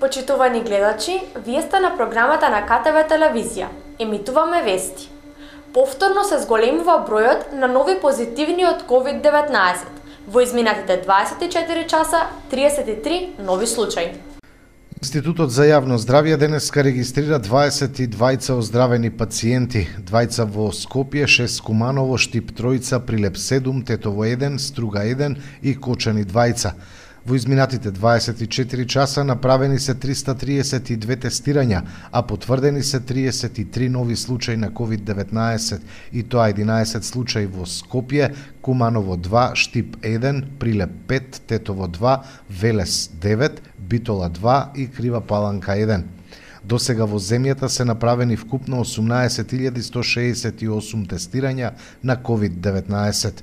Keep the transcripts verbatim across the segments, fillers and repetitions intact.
Почитувани гледачи, вие сте на програмата на К Т В телевизија. Емитуваме вести. Повторно се зголемува бројот на нови позитивни од ковид деветнаесет. Во изминатите дваесет и четири часа, триесет и три нови случаи. Институтот за јавно здравје денеска регистрира дваесет и двајца оздравени пациенти, двајца во Скопје, шест Куманово, Штип тројца, Прилеп седум, Тетово еден, Струга еден и Кочани двајца. Во изминатите дваесет и четири часа направени се триста триесет и две тестирања, а потврдени се триесет и три нови случаи на ковид деветнаесет, и тоа единаесет случаи во Скопје, Куманово два, Штип еден, Прилеп пет, Тетово два, Велес девет, Битола два и Крива Паланка еден. До сега во земјата се направени вкупно осумнаесет илјади сто шеесет и осум тестирања на ковид деветнаесет.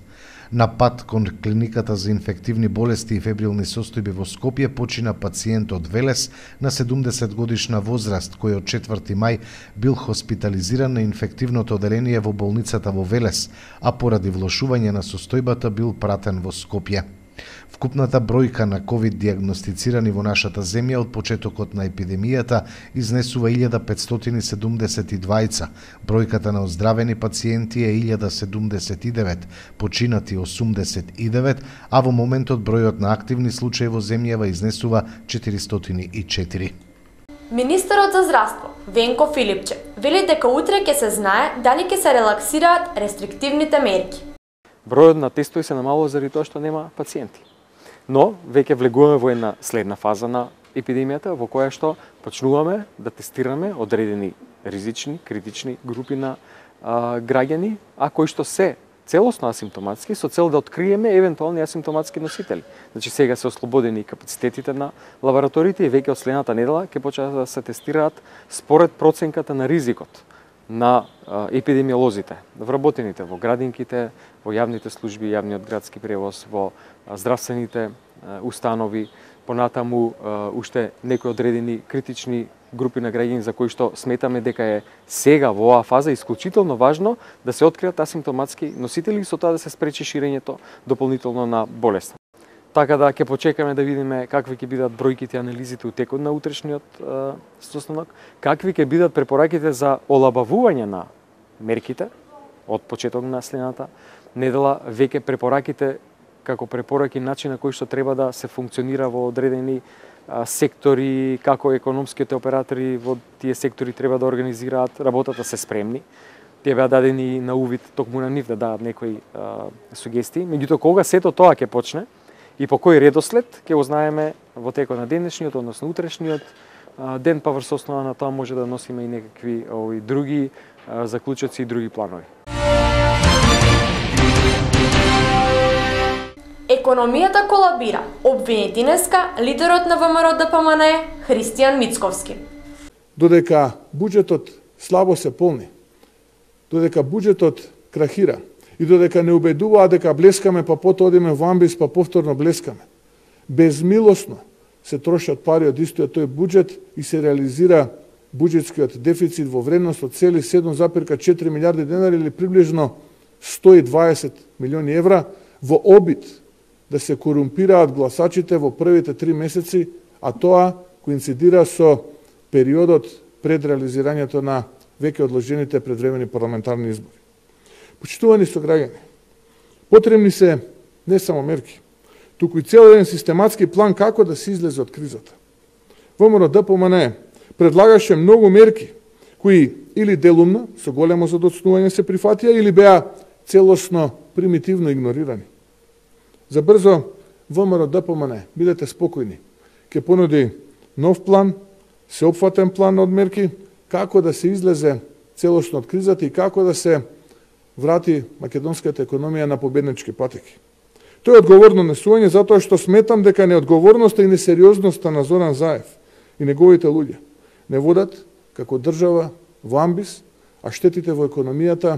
На пат кон клиниката за инфективни болести и фебрилни состојби во Скопје почина пациент од Велес на седумдесет годишна возраст, кој од четврти мај бил хоспитализиран на инфективното оделение во болницата во Велес, а поради влошување на состојбата бил пратен во Скопје. Вкупната бројка на ковид диагностицирани во нашата земја од почетокот на епидемијата изнесува илјада петстотини седумдесет и двајца, бројката на оздравени пациенти е илјада седумдесет и девет, починати осумдесет и девет, а во моментот бројот на активни случаи во земјава изнесува четиристотини и четири. Министерот за здравство Венко Филипче вели дека утре ќе се знае дали ќе се релаксираат рестриктивните мерки. Бројот на тестови се намалува заради тоа што нема пациенти. Но веќе влегуваме во една следна фаза на епидемијата во која што почнуваме да тестираме одредени ризични, критични групи на а, граѓани, а кои што се целосно асимптоматски со цел да откриеме евентуални асимптоматски носители. Значи сега се ослободени капацитетите на лабораториите и веќе од следната недела ќе почнат да се тестираат според проценката на ризикот на а, епидемиолозите, вработените во градинките, во јавните служби, јавниот градски превоз, во а, здравствените а, установи, понатаму а, уште некои одредени критични групи на граѓани за кои што сметаме дека е сега во оваа фаза исклучително важно да се откријат асимптоматски носители и со тоа да се спречи ширењето дополнително на болест. Така да ќе почекаме да видиме какви ќе бидат бројките и анализите у текот на утрешниот е, состанок, какви ќе бидат препораките за олабавување на мерките од почеток на следната недела, веќе препораките како препораки начин на кој што треба да се функционира во одредени а, сектори, како економските оператори во тие сектори треба да организираат работата, се спремни. Тие беа дадени на увид токму на нив да дадат некои а, сугестии. Меѓутоа кога сето тоа ќе почне и по кој редослед ќе го знаеме во текот на денешниот, односно утрешниот ден, па врз основа на тоа може да носиме и некакви овој други а, заклучоци и други планови. Економијата колабира, обвини денеска лидерот на ВМРО Д П М Н Христијан Мицковски. Додека буџетот слабо се полни, додека буџетот крахира, и додека не убедуваат дека блескаме, па потоа одиме во амбис, па повторно блескаме. Безмилосно се трошат пари од истиот тој буџет и се реализира буџетскиот дефицит во вредност од цели седум запирка четири милијарди денари или приближно сто и дваесет милиони евра во обид да се корумпираат гласачите во првите три месеци, а тоа коинцидира со периодот пред реализирањето на веќе одложените предвремени парламентарни избори. Почитувани сограѓани, потребни се не само мерки, туку и цел еден систематски план како да се излезе од кризата. ВМРО Д П М Н предлагаше многу мерки кои или делумно, со големо задоцнување се прифатија, или беа целосно примитивно игнорирани. За брзо, ВМРО Д П М Н, бидете спокојни, ќе понуди нов план, сеопфатен план од мерки, како да се излезе целосно од кризата и како да се врати македонската економија на победнички патеки. Тоа е одговорно несување затоа што сметам дека неодговорноста и несериозноста на Зоран Заев и неговите луѓе не водат како држава во амбис, а штетите во економијата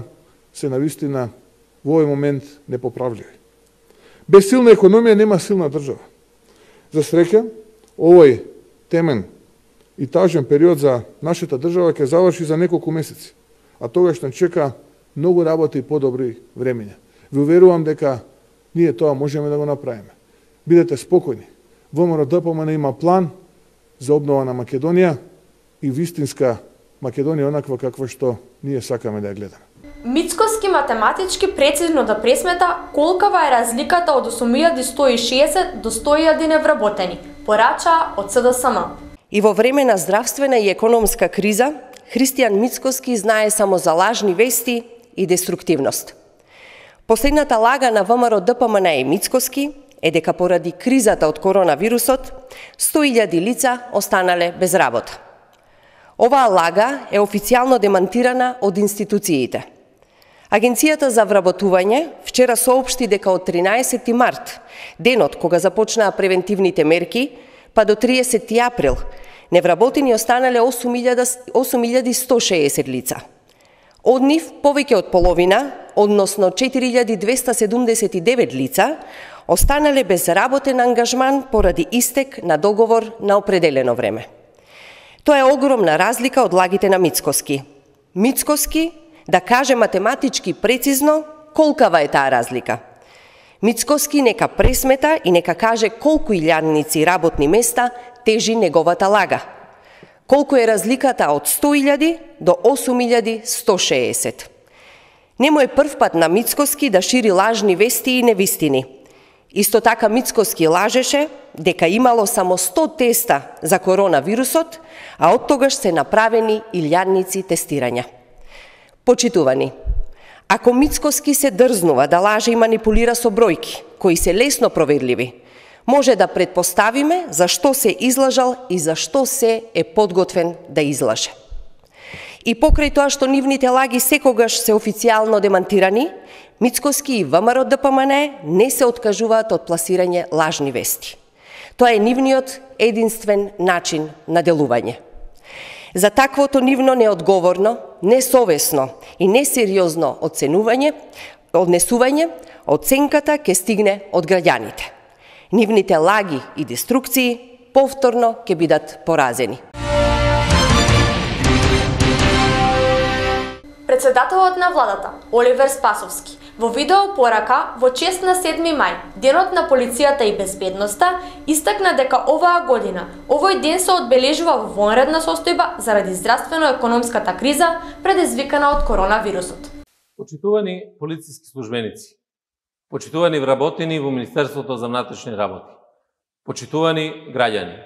се навистина во овој момент непоправливи. Без силна економија нема силна држава. За среќа, овој темен и тажен период за нашата држава ќе заврши за неколку месеци, а тогаш не чека многу работа и подобри времења. Ви уверувам дека ние тоа можеме да го направиме. Бидете спокојни. ВМРО Д П М Н има план за обнова на Македонија и вистинска Македонија онаква каква што ние сакаме да ја гледаме. Мицкоски математички прецизно да пресмета колкава е разликата од осум илјади сто и шеесет до сто илјади невработени, порачаа од С Д С М. И во време на здравствена и економска криза, Христијан Мицкоски знае само за лажни вести и деструктивност. Последната лага на В М Р Д П М Н и Мицкоски е дека поради кризата од коронавирусот, сто илјади лица останале без работа. Оваа лага е официјално демантирана од институциите. Агенцијата за вработување вчера соопшти дека од тринаесети март, денот кога започнаа превентивните мерки, па до триесети април, невработени останале осум илјади сто шеесет лица. Од нив повеќе од половина, односно четири илјади двеста седумдесет и девет лица, останале без работен ангажман поради истек на договор на определено време. Тоа е огромна разлика од лагите на Мицкоски. Мицкоски, да каже математички прецизно колкава е таа разлика. Мицкоски нека пресмета и нека каже колку илјадници работни места тежи неговата лага. Колку е разликата од сто илјади до осум илјади сто шеесет. Нему е прв пат на Мицкоски да шири лажни вести и невистини. Исто така Мицкоски лажеше дека имало само сто теста за коронавирусот, а од тогаш се направени илјадници тестирања. Почитувани, ако Мицкоски се дрзнува да лаже и манипулира со бројки, кои се лесно проверливи, може да предпоставиме зашто се излажал и зашто се е подготвен да излаже. И покрај тоа што нивните лаги секогаш се официјално демантирани, Мицкоски и В М Р Д П М Н не се откажуваат од пласирање лажни вести. Тоа е нивниот единствен начин на делување. За таквото нивно неодговорно, несовесно и несериозно оценување, однесување, оценката ќе стигне од граѓаните. Нивните лаги и деструкции повторно ќе бидат поразени. Председателот на владата, Оливер Спасовски, во видео порака во чест на седми мај, денот на полицијата и безбедноста, истакна дека оваа година овој ден се одбележува во вонредна состојба заради здравствено-економската криза предизвикана од коронавирусот. Почитувани полициски службеници, почитувани вработени во Министерството за внатрешни работи, почитувани граѓани.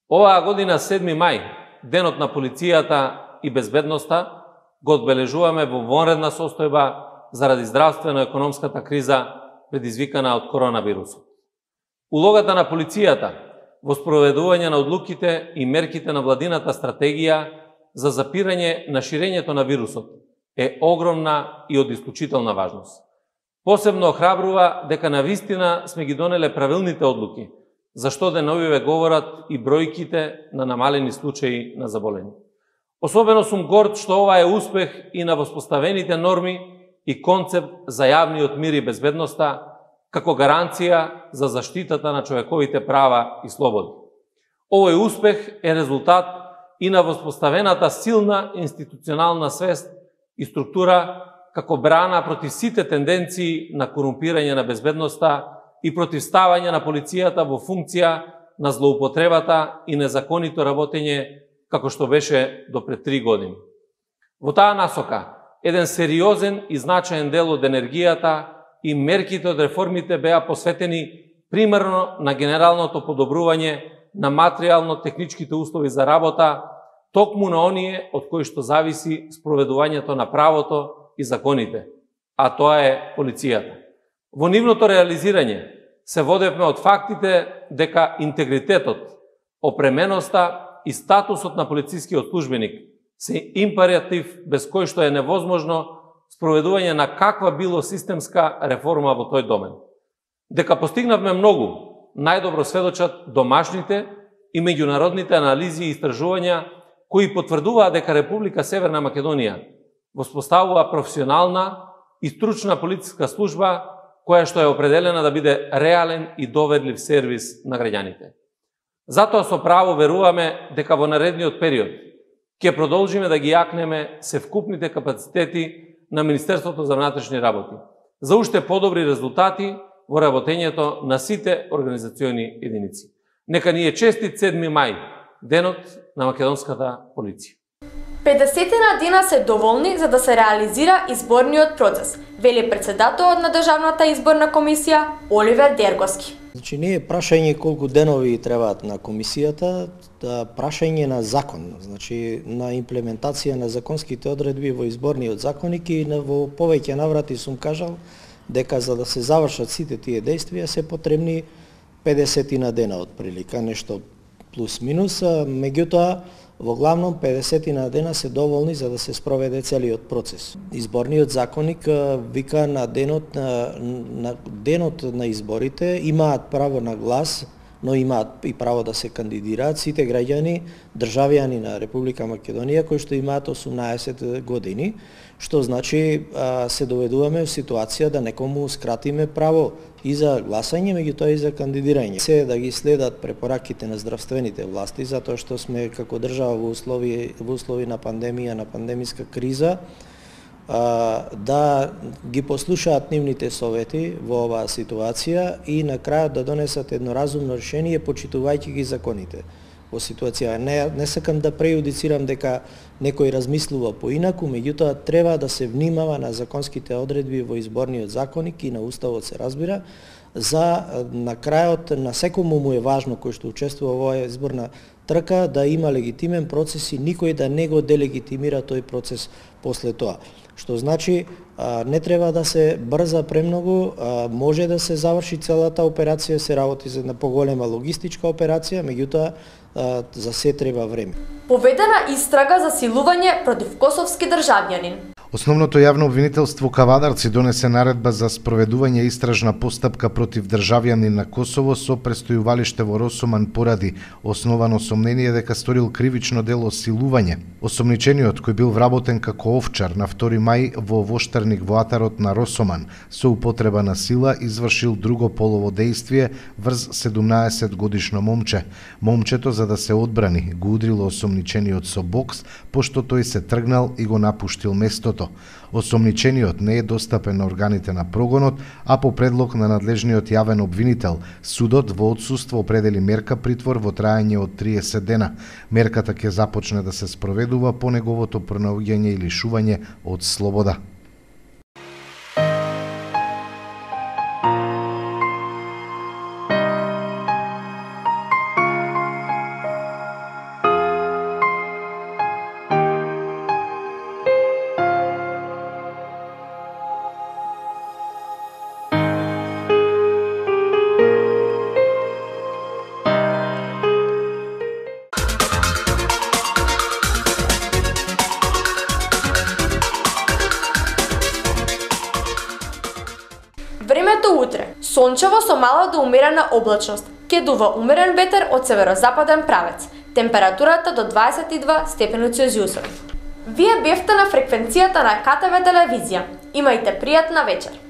Оваа година седми мај, денот на полицијата и безбедноста, го одбележуваме во вонредна состојба заради здравствено-економската криза предизвикана од коронавирусот. Улогата на полицијата во спроведување на одлуките и мерките на владината стратегија за запирање на ширењето на вирусот е огромна и од исклучителна важност. Посебно охрабрува дека навистина сме ги донеле правилните одлуки, зашто деновиве говорат и бројките на намалени случаи на заболени. Особено сум горд што ова е успех и на воспоставените норми и концепт за јавниот мир и безбедноста како гаранција за заштитата на човековите права и слободи. Овој успех е резултат и на воспоставената силна институционална свест и структура како брана против сите тенденции на корумпирање на безбедноста и против ставање на полицијата во функција на злоупотребата и незаконито работење како што беше до пред три години. Во таа насока, еден сериозен и значаен дел од енергијата и мерките од реформите беа посветени примерно на генералното подобрување на материјално-техничките услови за работа, токму на оние од кои што зависи спроведувањето на правото и законите, а тоа е полицијата. Во нивното реализирање се водевме од фактите дека интегритетот, опременоста и статусот на полицискиот службеник се императив без кој што е невозможно спроведување на каква било системска реформа во тој домен. Дека постигнавме многу, најдобро сведочат домашните и меѓународните анализи и истражувања кои потврдуваат дека Република Северна Македонија воспоставува професионална и стручна полициска служба која што е определена да биде реален и доверлив сервис на граѓаните. Затоа со право веруваме дека во наредниот период ќе продолжиме да ги јакнеме севкупните капацитети на Министерството за внатрешни работи за уште подобри резултати во работењето на сите организациони единици. Нека ни е честит седми мај, денот на македонската полиција. педесетина дена се доволни за да се реализира изборниот процес, вели председателот на Државната изборна комисија Оливер Дергоски. Значи не е прашање колку денови требаат на комисијата, да прашање на закон, значи на имплементација на законските одредби во изборниот законник и на во повеќе наврати сум кажал дека за да се завршат сите тие действија се потребни педесетина дена отприлика, нешто плюс минус, меѓутоа во главном педесетина дена се доволни за да се спроведе целиот процес. Изборниот законник вика на денот на, на денот на изборите имаат право на глас, но имаат и право да се кандидираат сите граѓани, државјани на Република Македонија кои што имаат осумнаесет години, што значи се доведуваме во ситуација да некому скратиме право и за гласање, меѓутоа и за кандидирање. Се да ги следат препораките на здравствените власти, затоа што сме како држава во услови во услови на пандемија, на пандемиска криза, да ги послушаат нивните совети во оваа ситуација и на крајот да донесат едно разумно решение почитувајќи ги законите. Во ситуација не, не сакам да прејудицирам дека некој размислува поинаку, меѓутоа треба да се внимава на законските одредби во изборниот законник и на уставот се разбира, за на крајот на секому му е важно кој што учествува во оваа изборна трка да има легитимен процес и никој да не го делегитимира тој процес после тоа. Што значи не треба да се брза премногу, може да се заврши целата операција, се работи за една поголема логистичка операција, меѓутоа за се треба време. Поведена истрага за силување против косовски државјанин. Основното јавно обвинителство Кавадарци донесе наредба за спроведување истражна постапка против државјанин на Косово со престојувалиште во Росоман поради основано сомнение дека сторил кривично дело силување. Осомничениот, кој бил вработен како овчар на втори мај во воштарник во атарот на Росоман, со употреба на сила извршил друго полово дејствие врз седумнаесет годишно момче. Момчето, за да се одбрани, го удрило осомничениот со бокс, пошто тој се тргнал и го напуштил местото. Осомничениот не е достапен на органите на прогонот, а по предлог на надлежниот јавен обвинител, судот во отсуство определи мерка притвор во траење од триесет дена. Мерката ќе започне да се спроведува по неговото пронаоѓање и лишување од слобода. Времето утре. Сончево со мала до умерена облачност. Ке дува умерен ветер од северозападен правец. Температурата до дваесет и два степени Целзиусови. Вие бевте на фреквенцијата на ка те ве телевизија. Имајте пријатна вечер.